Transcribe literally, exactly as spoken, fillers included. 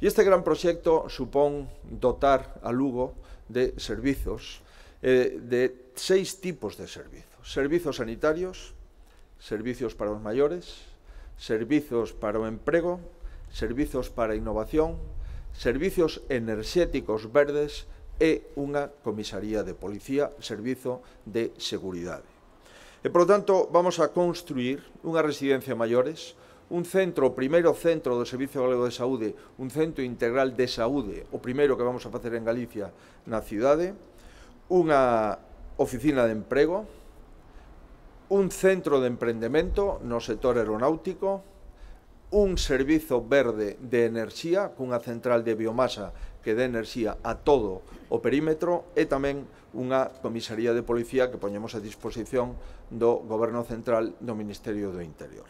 E este gran proxecto supón dotar a Lugo de servizos, eh, de seis tipos de servizos. Servizos sanitarios, servizos para os maiores, servizos para o emprego, servizos para a innovación, servizos enerxéticos verdes e unha comisaría de policía, servizo de seguridade. E, por lo tanto, vamos a construir unha residencia maiores, un centro, o primeiro centro do Servicio Galego de Saúde, un centro integral de saúde, o primeiro que vamos a facer en Galicia na cidade, unha oficina de emprego, un centro de emprendemento no sector aeronáutico, un servizo verde de enerxía, cunha central de biomasa que dé enerxía a todo o perímetro e tamén unha comisaría de policía que poñemos a disposición do Goberno Central do Ministerio do Interior.